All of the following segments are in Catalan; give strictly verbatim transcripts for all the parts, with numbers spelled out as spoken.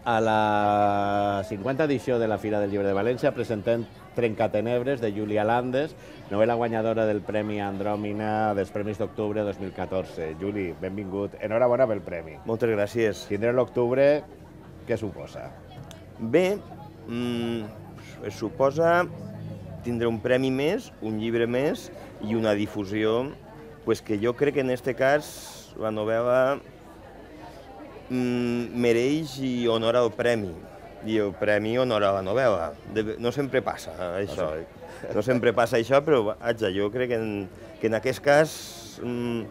A la cinquanta edició de la Fira del Llibre de València presentem Trencatenebres, de Júlia Landes, novel·la guanyadora del Premi Andròmina dels Premis d'Octubre dos mil catorze. Juli, benvingut. Enhorabona pel premi. Moltes gràcies. Tindre l'octubre, què suposa? Bé, mmm, es suposa tindre un premi més, un llibre més i una difusió, pues que jo crec que en aquest cas la novel·la mmm, mereix i honora el premi. I el premi honora la novel·la. De, no sempre passa això. No sempre passa això, però vaja, jo crec que en, que en aquest cas mmm,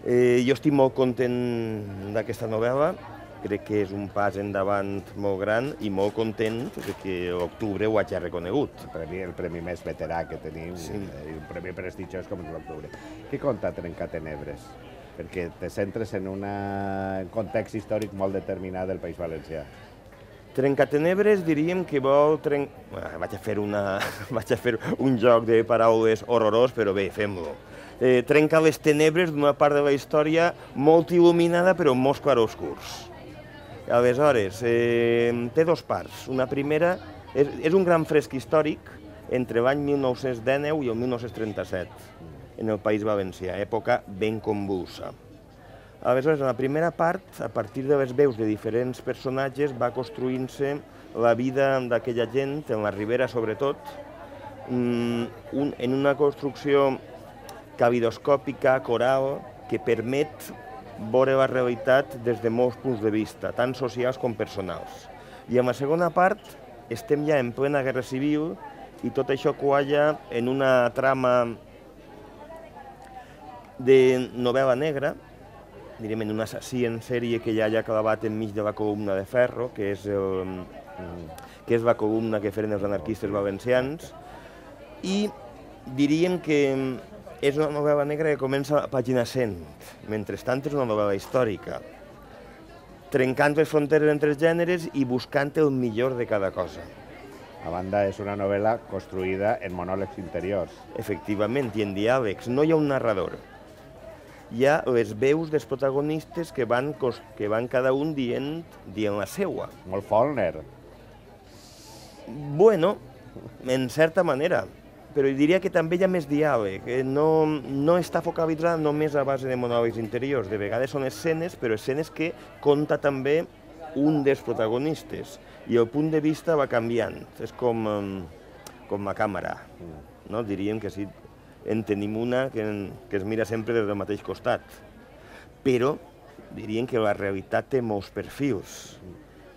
eh, jo estic molt content d'aquesta novel·la. Crec que és un pas endavant molt gran i molt content que l'octubre ho hagi reconegut. El premi, el premi més veterà que tenim, sí. eh, un premi prestigiós com és l'octubre. Què conta Trencatenebres? Perquè te centres en un context històric molt determinat del País Valencià. Trencatenebres diríem que vol... Tren... Bueno, vaig, a fer una... vaig a fer un joc de paraules horrorós, però bé, fem-lo. Eh, trenca les tenebres d'una part de la història molt il·luminada però amb molts clarobscurs. Aleshores, eh, té dos parts. Una primera és, és un gran fresc històric entre l'any mil nou-cents dinou i el mil nou-cents trenta-set en el País Valencià, època ben convulsa. Aleshores, en la primera part, a partir de les veus de diferents personatges, va construint-se la vida d'aquella gent, en la Ribera sobretot, un, en una construcció calidoscòpica, coral, que permet veure la realitat des de molts punts de vista, tant socials com personals. I en la segona part estem ja en plena guerra civil i tot això qualla en una trama de novel·la negra, diríem en un assassí en sèrie que hi ha allà clavat enmig de la columna de ferro, que és, el, que és la columna que feren els anarquistes valencians, i diríem que és una novel·la negra que comença a la pàgina cent, mentrestant és una novel·la històrica, trencant les fronteres entre els gèneres i buscant el millor de cada cosa. A banda, és una novel·la construïda en monòlegs interiors. Efectivament, i en diàlegs. No hi ha un narrador. Hi ha les veus dels protagonistes que van, que van cada un dient, dient la seua. Molt Faulkner. Bueno, en certa manera, però diria que també hi ha més diàleg. No, no està focalitzada només a base de monòlegs interiors. De vegades són escenes, però escenes que conta també un dels protagonistes. I el punt de vista va canviant. És com, com la càmera. No? Diríem que sí. En tenim una que, que es mira sempre des del mateix costat. Però diríem que la realitat té molts perfils.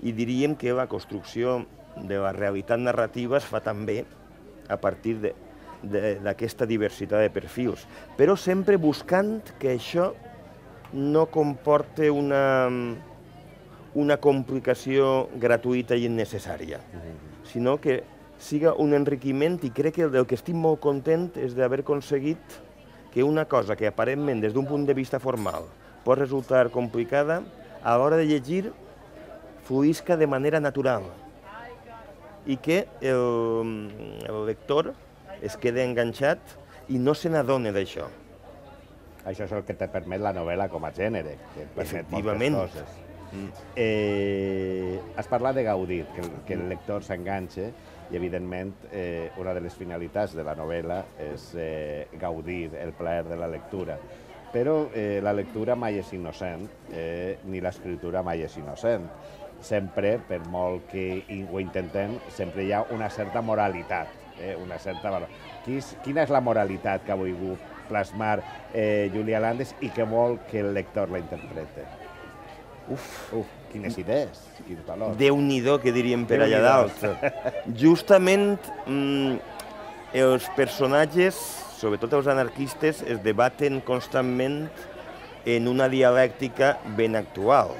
I diríem que la construcció de la realitat narrativa es fa també a partir d'aquesta diversitat de perfils. Però sempre buscant que això no comporte una, una complicació gratuïta i innecessària, sinó que siga un enriquiment, i crec que del que estic molt content és d'haver aconseguit que una cosa que aparentment des d'un punt de vista formal pot resultar complicada, a l'hora de llegir fluïsca de manera natural i que el, el lector es queda enganxat i no se n'adona d'això. Això és el que te permet la novel·la com a gènere, que et permet Efectivament. moltes coses. Mm. Eh, has parlat de gaudir, que el, que el lector s'enganxe, i evidentment eh, una de les finalitats de la novel·la és eh, gaudir el plaer de la lectura. Però eh, la lectura mai és innocent, eh, ni l'escriptura mai és innocent. Sempre, per molt que ho intentem, sempre hi ha una certa moralitat, eh, una certa valor. Quina és la moralitat que ha volgut plasmar eh, Júlia Landes i que vol que el lector la interprete? Uf, Uf, quines idees, quins valors. Déu-n'hi-do, que diríem per allà dalt. Justament mmm, els personatges, sobretot els anarquistes, es debaten constantment en una dialèctica ben actual,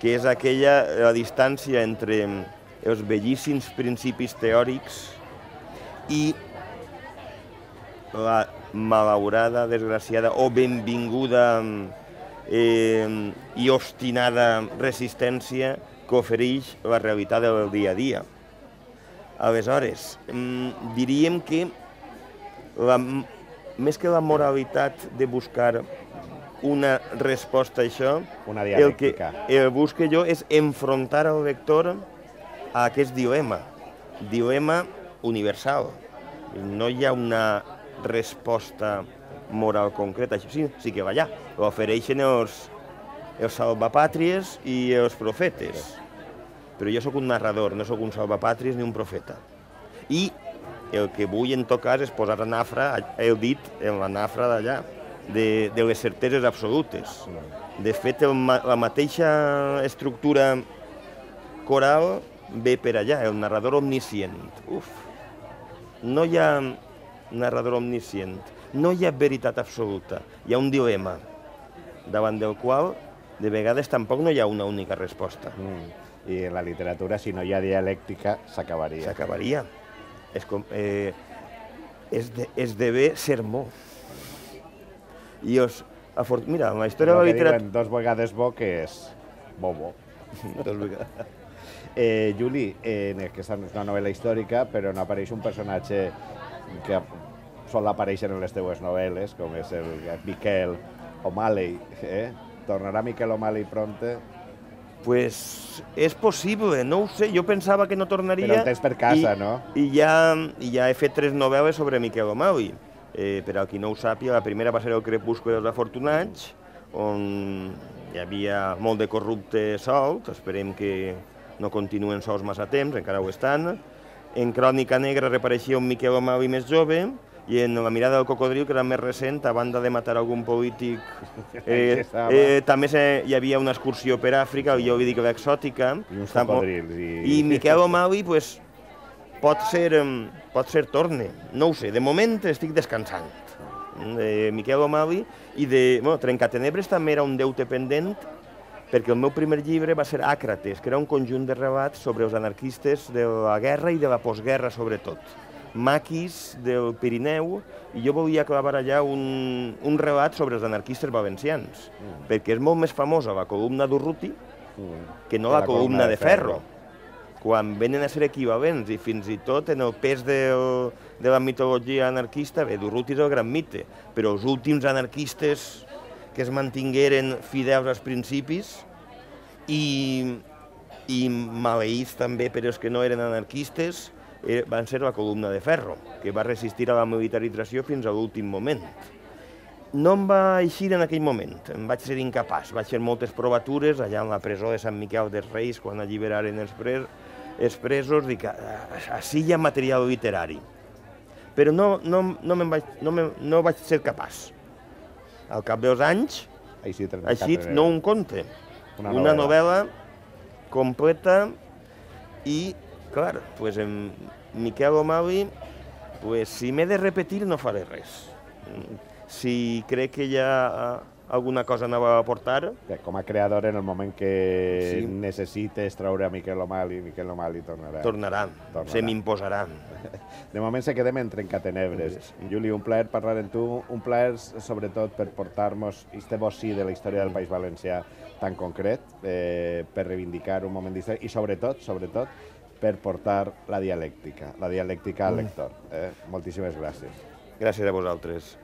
que és aquella la distància entre els bellíssims principis teòrics i la malaurada, desgraciada o benvinguda eh, i obstinada resistència que ofereix la realitat del dia a dia. Aleshores, diríem que la, més que la moralitat de buscar una resposta a això. Una El que dialèctica. el busque jo és enfrontar el lector a aquest dilema, dilema universal. No hi ha una resposta moral concreta. Sí, sí que va allà. L'ofereixen els, els salvapàtries i els profetes. Però jo sóc un narrador, no sóc un salvapàtries ni un profeta. I el que vull en tot cas és posar a nafra, he dit en la nafra d'allà, de, de les certeses absolutes. De fet, el, la mateixa estructura coral ve per allà, el narrador omniscient. Uf, no hi ha narrador omniscient, no hi ha veritat absoluta, hi ha un dilema davant del qual de vegades tampoc no hi ha una única resposta. Mm. I en la literatura, si no hi ha dialèctica, s'acabaria. S'acabaria. És com, eh, esde, esdevé sermó. I os, afort... Mira, en la història de la literatura... diuen dos vegades bo, que és bobo. Dos vegades. Eh, Juli, eh, que és una novel·la històrica, però no apareix un personatge que sol aparèixer en les teues novel·les, com és el Miquel O'Malley. Eh? Tornarà Miquel O'Malley pronte? Pues és possible, no ho sé, jo pensava que no tornaria... Però el tens per casa, i, no? I ja, i ja he fet tres novel·les sobre Miquel O'Malley. Eh, per al qui no ho sàpiga, la primera va ser El crepuscle dels afortunats, on hi havia molt de corrupte solt, esperem que no continuen sols massa temps, encara ho estan. En Crònica negra reapareixia un Miquel O'Malley més jove, i en La mirada del cocodril, que era més recent, a banda de matar algun polític, eh, eh, també se, hi havia una excursió per Àfrica, jo li dic l'exòtica. I uns cocodrils. I... I Miquel O'Malley, pues, pot ser, pot ser torne, no ho sé, de moment estic descansant. De Miquel O'Malley i de... Bueno, Trencatenebres també era un deute pendent, perquè el meu primer llibre va ser Àcrates, que era un conjunt de relats sobre els anarquistes de la guerra i de la postguerra, sobretot. Maquis del Pirineu, i jo volia clavar allà un, un relat sobre els anarquistes valencians, mm. perquè és molt més famosa la columna d'Urruti mm. que no la, la columna, columna de, de ferro. ferro. Quan venen a ser equivalents, i fins i tot en el pes del, de la mitologia anarquista, bé, d'Urruti és el gran mite, però els últims anarquistes que es mantingueren fidels als principis i, i maleïts també per els que no eren anarquistes, van ser la columna de ferro, que va resistir a la militarització fins a l'últim moment. No em va eixir en aquell moment, em vaig ser incapaç. Vaig fer moltes provatures allà en la presó de Sant Miquel dels Reis, quan alliberaren els, pres, els presos, dic, així hi ha material literari. Però no, no, no, vaig, no, me, no vaig ser capaç. Al cap dels anys, així, així no un conte, una, una novel·la completa i clar, pues en Miquel O'Malley, pues si m'he de repetir no faré res. Si crec que hi ha alguna cosa nova a aportar... Com a creador, en el moment que sí. necessites treure a Miquel O'Malley, Miquel O'Malley tornarà. Tornarà, tornarà. Se m'imposarà. De moment se quedem en Trencatenebres. Sí. Juli, un plaer parlar amb tu, un plaer sobretot per portar-nos este bocí de la història del País Valencià tan concret, eh, per reivindicar un moment d'història i sobretot, sobretot, per portar la dialèctica, la dialèctica al lector. Eh? Moltíssimes gràcies. Gràcies a vosaltres.